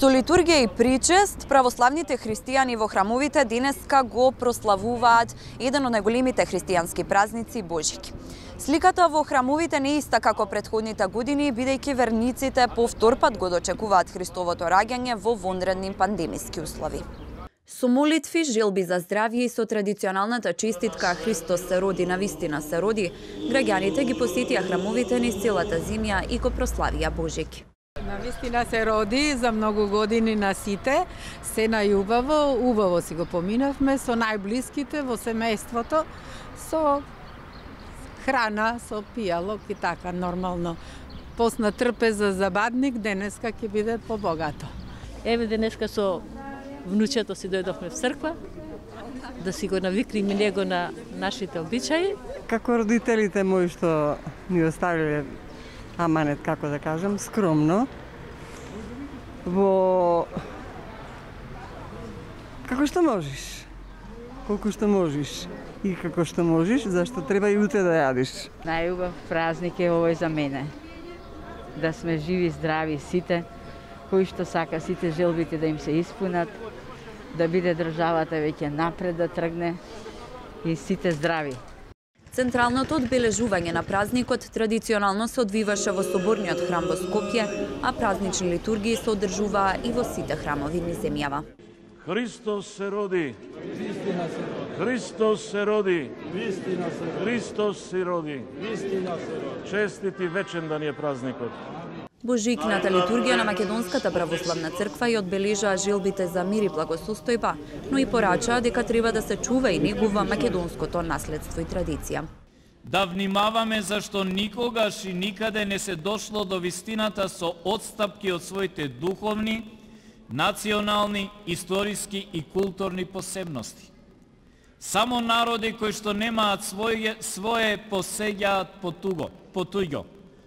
Со литургија и причест, православните христијани во храмовите денеска го прославуваат еден од најголемите христијански празници Божик. Сликата во храмовите не е иста како претходните години, бидејќи верниците по втор пат го дочекуваат Христовото раѓање во вонредни пандемиски услови. Со молитви, желби за здравје и со традиционалната честитка Христос се роди, навистина се роди, граѓаните ги посетија храмовите низ целата земја и го прославија Божик. Навистина се роди за многу години на сите, се најубаво, убаво си го поминавме со најблиските во семејството, со храна, со пијалок и така нормално. Посна трпеза за бадник, денеска ќе биде побогато. Еве денеска со внучето си дојдовме в црква, да си го навикнеме него на нашите обичаи. Како родителите мои што ни оставиле аманет, како да кажам, скромно, во како што можеш, колку што можеш и како што можеш, зашто треба и утре да јадиш. Најубав празник е овој за мене. Да сме живи, здрави сите, кои што сака сите желбите да им се испунат, да биде државата веќе напред да тргне и сите здрави. Централното одбележување на празникот традиционално се одвиваше во Соборниот храм во Скопје, а празнични литургии се одржуваа и во сите храмови низ земјава. Христос се роди. Христос се роди. Христос се роди. Честит и вечен да ни е празникот. Божикната литургија на Македонската православна црква ја одбележаа желбите за мир и благосостојба, но и порачаа дека треба да се чува и негува македонското наследство и традиција. Да внимаваме зашто никогаш и никаде не се дошло до вистината со отстапки од своите духовни, национални, историски и културни посебности. Само народи кои што немаат свое посеѓаат по туѓо.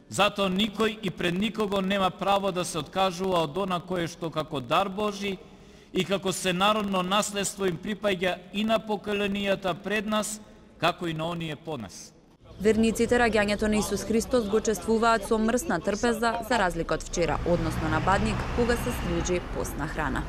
Зато никој и пред никого нема право да се откажува од она кое што како дар Божи и како сенародно наследство им припаѓа и на поколенијата пред нас, како и на оние по нас. Верниците раѓањето на Исус Христос го чествуваат со мрсна трпеза за разлика од вчера, односно на бадник, кога се служи постна храна.